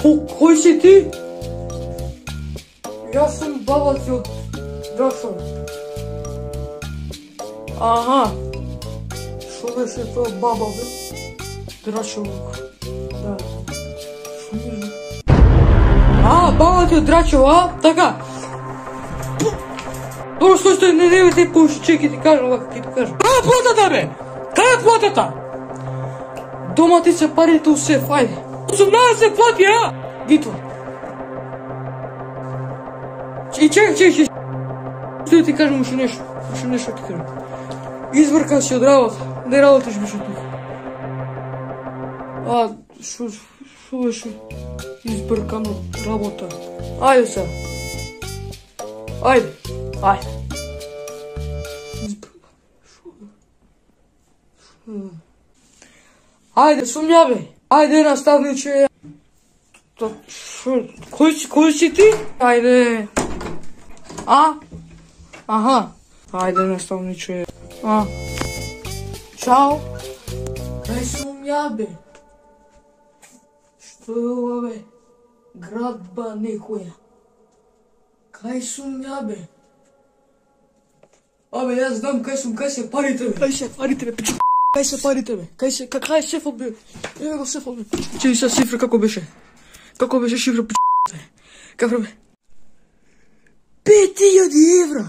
Кој си ти? Јас сум баба ти од Драчево. Аха. Шо беше тоа баба, бе? Драчево. Да. Шо беше? Баба ти од Драчево, така. Добро, стој, не те пуши, чеки ти кажам, вака ти кажам. Кај е платата, бе? Кај е платата? Дома ти се парите у сеф, ајде. 18 плати, Гито. Чекай. Стој ти кажам уште нешто ти кажам. Избркан си од работа, не работиш беше тук. Шо беше избркан од работа? Ајде сега. Ајде. Ајде, сум ја, бе. Ајде, наставниче. Кој си ти? Ајде. Аха. Ајде, наставниче. Чао. Кај сум ја, бе? Што е ова, бе? Градба некоја. Кај сум ја, бе? Јас знам кај сум, кај се парите, бе? Кај се парите, бе? Кај се парите, бе? Кај е шефот, бе? Еве го шефот, бе. Чеки са шифра, како беше? Како беше шифра, бе? Како, бе? 5000 евра!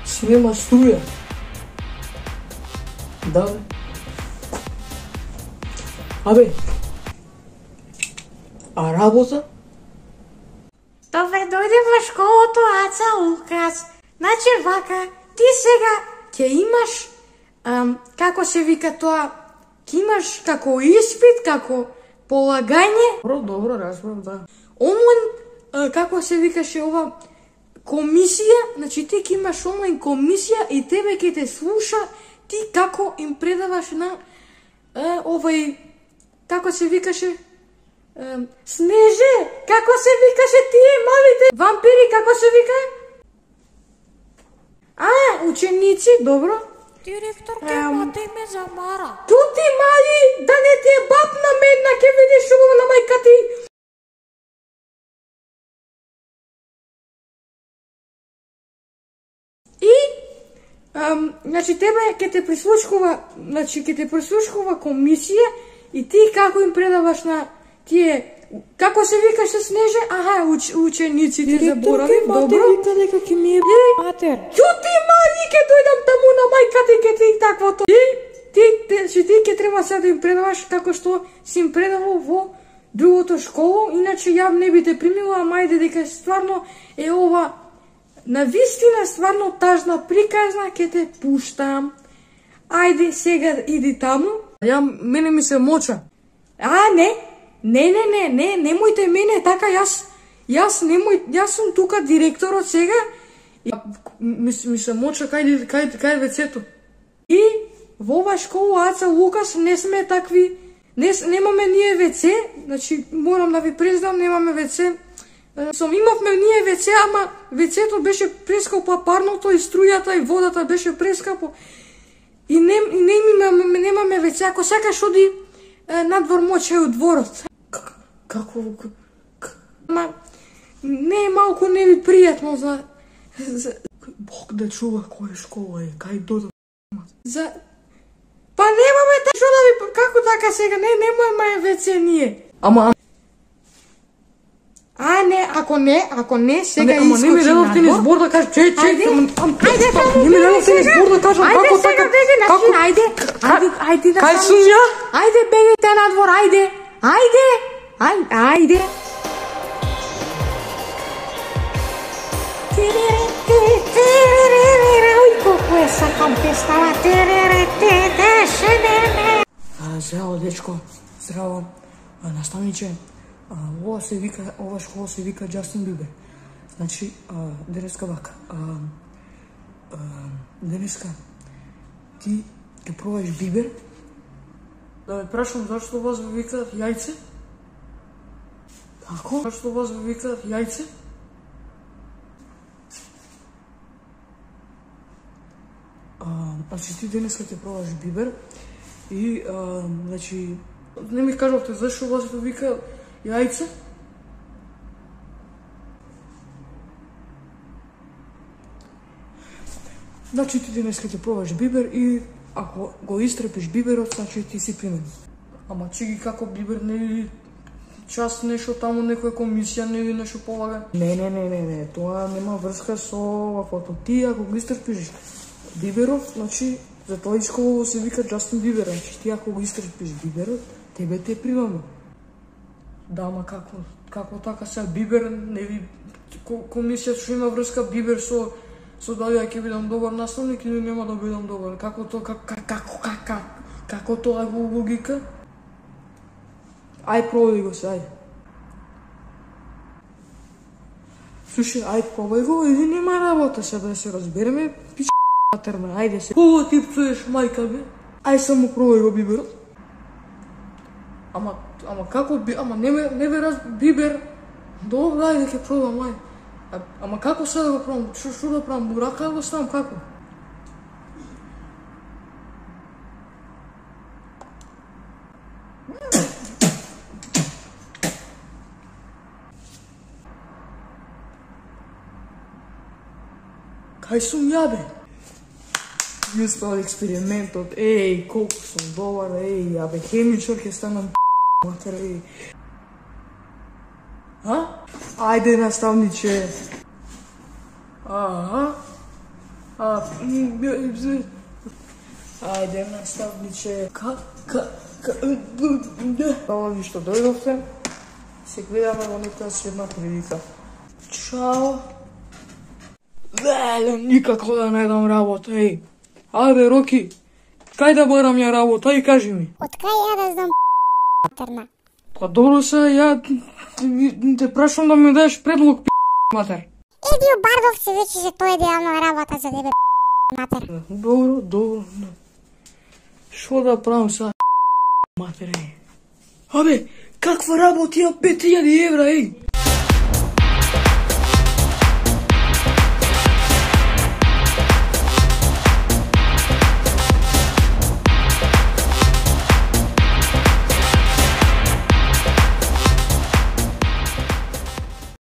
Си нема струја. Да, бе. Работа? Добре, дојде во школото, Аца Лукас. Значи вака, ти сега ќе имаш, како се вика тоа, ќе имаш како испит, како полагање. Добро, разбрав, да. Онлайн, како се викаше ова, комисија, значи ти ќе имаш онлайн комисија и тебе ќе те слуша ти како им предаваш на овај, како се викаше, Снеже, како се викаше тие малите вампири, како се вика? Ученици, добро. Директорке, мати ме замара. Тути мали, да не ти е баб на медна, ке видиш ово на мајка ти. И, значи тебе ќе те прислушкува, комисија и ти како им предаваш на тие, како се викаше Снеже? Учениците заборавив, добро. Директорке, мати вика дека ќе ми е матер. Чути мали, ке дојдам таму на мајка ти, ке ти таквото. Ти ке треба сега да им предаваш како што си им предавал во другото школо, иначе ја не би те примила, ама ајде дека стварно е ова на вистина стварно тажна приказна, ке те пуштам. Ајде сега иди таму. Мене ми се моча. Не, немојте мене така, јас сум тука директорот сега. Ми се моча кај вецето. И во ова школа, Аца Лукас, не сме такви, немаме ние веце, значи морам да ви признам, немаме веце. Имавме ние веце, ама вецето беше прескапо, парното и струјата и водата беше прескапо. И немаме веце, ако сакаш оди надвор мочај од дворот. Како? Не е малку не ви пријатно за... Бог да чува која школа е, кај додам. Па немаме што да ви... Како така сега? Немаме веце ние. Ако не, сега искочи надвор. Ама не ми дадовте ни збор да кажам, чек. Ајде, не ми дадовте ни збор да кажам, како така? Ајде, кај сум ја? Ајде, бегајте надвор, ајде. Ој, колку е сакам пестава. Здраво, дечко. Здраво. Наставниче. Ова школа се вика Джастин Бибер. Значи, денеска вака. Денеска ти ќе пробаш бибер. Да ме прашам зашто вас ви викаат јајце? Како? Зашто вас ви викаат јајце? Значи ти денеска ќе пробаш бибер и значи не ми кажавте зашо вас вика јајце? Значи ти денеска ќе пробаш бибер и ако го истрепиш биберот, значи ти си примен. Ама чеки како бибер не час нешто таму некоја комисија не ви нешто полага. Не, тоа нема врска со ваквото. Ти ако го истрпиш биберот, значи за тоа исково се вика Джастин Бибер, значи ти ако го истрпиш биберот, тебе те примаме. Да, ама како така сега бибер не ви комисија што има врска бибер со дали ќе бидам добар наставник или нема да бидам добар. Како тоа е логика? Ај пробај го се, ај. Слушај, ај пробај го, или нема работа се да се разбереме, пич матерна, ајде се. Кого ти пцуеш мајка бе? Ај само пробај го биберот. Ама како ама не бе бибер. Добро, ајде ќе пробам, ај. Ама како се да го пробам? Што да правам? Бурака го ставам, како? Кај сум ја бе? Ја спал експериментот, колку сум добар, бе, хемичар ќе станам матер, Ајде, наставниче. Ајде, наставниче. Хвала ви што дојдовте. Се гледаме во некоја следна прилика. Чао. Никако да најдам работа, Ајде, Роки, кај да барам ја работа, кажи ми. Од кај ја да знам матерна? Па добро се, ја те прашам да ми дадеш предлог, матер. Еди у Бардовци, веќе се тоа идеална работа за тебе, матер. Добро. Шо да правам са, матер, Абе, каква работа ја 5000 евра,